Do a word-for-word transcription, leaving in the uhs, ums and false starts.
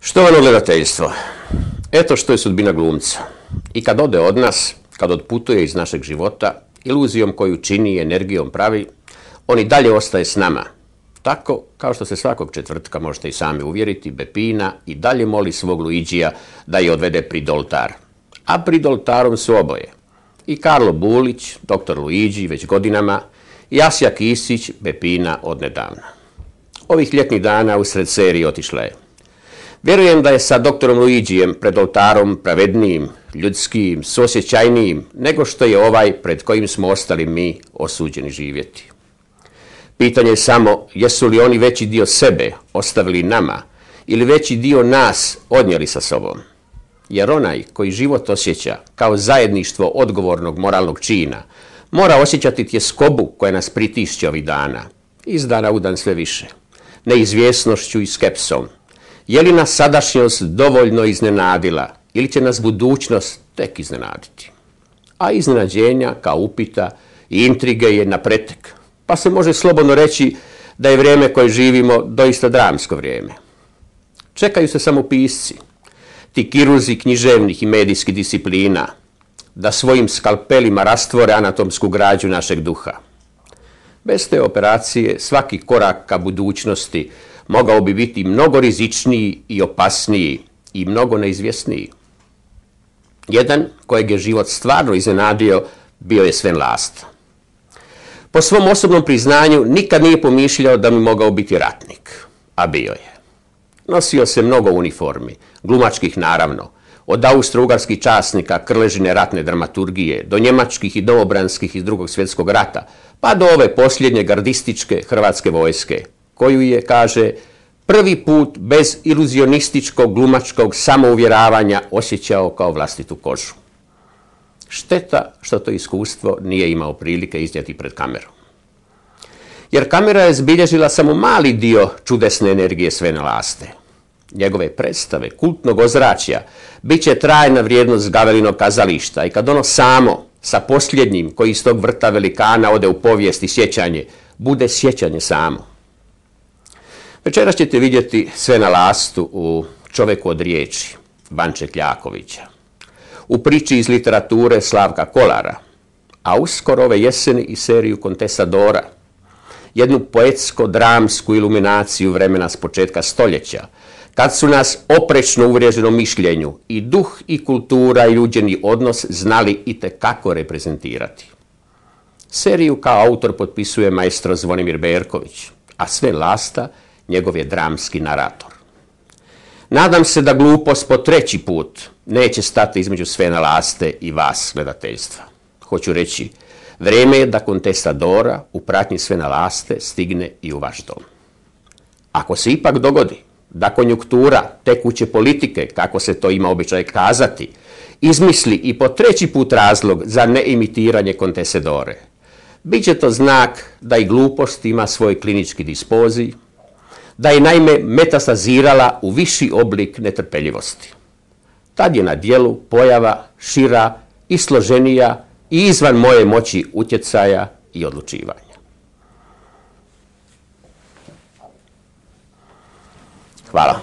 Štovano gledateljstvo, eto što je sudbina glumca. I kad ode od nas, kad odputuje iz našeg života, iluzijom koju čini i energijom pravi, on i dalje ostaje s nama. Tako, kao što se svakog četvrtka možete i sami uvjeriti, Beppina i dalje moli svog Luigija da je odvede prid oltar. A prid oltarom su oboje. I Karlo Bulić, doktor Luigi već godinama, i Asja Kisić, Beppina odnedavna. Ovih ljetnih dana usred serije otišla je. Vjerujem da je sa doktorom Luigijem pred oltarom pravednijim, ljudskim, suosjećajnijim, nego što je ovaj pred kojim smo ostali mi osuđeni živjeti. Pitanje je samo jesu li oni veći dio sebe ostavili nama ili veći dio nas odnijeli sa sobom. Jer onaj koji život osjeća kao zajedništvo odgovornog moralnog čina mora osjećati tjeskobu koja nas pritišće ovih dana, iz dana u dan sve više, neizvjesnošću i skepsom. Je li nas sadašnjost dovoljno iznenadila ili će nas budućnost tek iznenaditi? A iznenađenja kao upita i intrige je na pretek, pa se može slobodno reći da je vrijeme koje živimo doista dramsko vrijeme. Čekaju se samo pisci, ti kirurzi književnih i medijskih disciplina, da svojim skalpelima rastvore anatomsku građu našeg duha. Bez te operacije svaki korak ka budućnosti mogao bi biti mnogo rizičniji i opasniji i mnogo neizvjesniji. Jedan kojeg je život stvarno iznenadio bio je Sven Lasta. Po svom osobnom priznanju nikad nije pomišljao da bi mogao biti ratnik, a bio je. Nosio se mnogo uniformi, glumačkih naravno, od austro-ugarskih časnika krležine ratne dramaturgije, do njemačkih i domobranskih iz drugog svjetskog rata, pa do ove posljednje gardističke hrvatske vojske, koju je, kaže, prvi put bez iluzionističkog glumačkog samouvjeravanja osjećao kao vlastitu kožu. Šteta što to iskustvo nije imao prilike iznijeti pred kamerom. Jer kamera je zbilježila samo mali dio čudesne energije Svena Laste. Njegove predstave, kultnog ozračja, bit će trajna vrijednost Gavelinog kazališta i kad ono samo, sa posljednjim koji iz tog vrta velikana ode u povijest i sjećanje, bude sjećanje samo. Večeras ćete vidjeti Svena Lastu u Čovjeku od riječi Vanče Kljakovića, u priči iz literature Slavka Kolara, a uskoro ove jeseni i seriju Contestadora, jednu poetsko-dramsku iluminaciju vremena s početka stoljeća, kad su nas oprečno uvriježenom mišljenju i duh i kultura i ljuđeni odnos znali itekako reprezentirati. Seriju kao autor potpisuje maestro Zvonimir Berković, a Sven Lasta njegov je dramski narator. Nadam se da glupost po treći put neće stati između Svena Laste i vas, gledateljstva. Hoću reći, vrijeme je da Contestadora u pratnji Svena Laste stigne i u vaš dom. Ako se ipak dogodi da konjunktura tekuće politike, kako se to ima običaj kazati, izmisli i po treći put razlog za neimitiranje Contestadore, bit će to znak da i glupost ima svoj klinički dispozij, da je naime metastazirala u viši oblik netrpeljivosti. Tad je na djelu pojava šira i složenija i izvan moje moći utjecaja i odlučivanja. Hvala.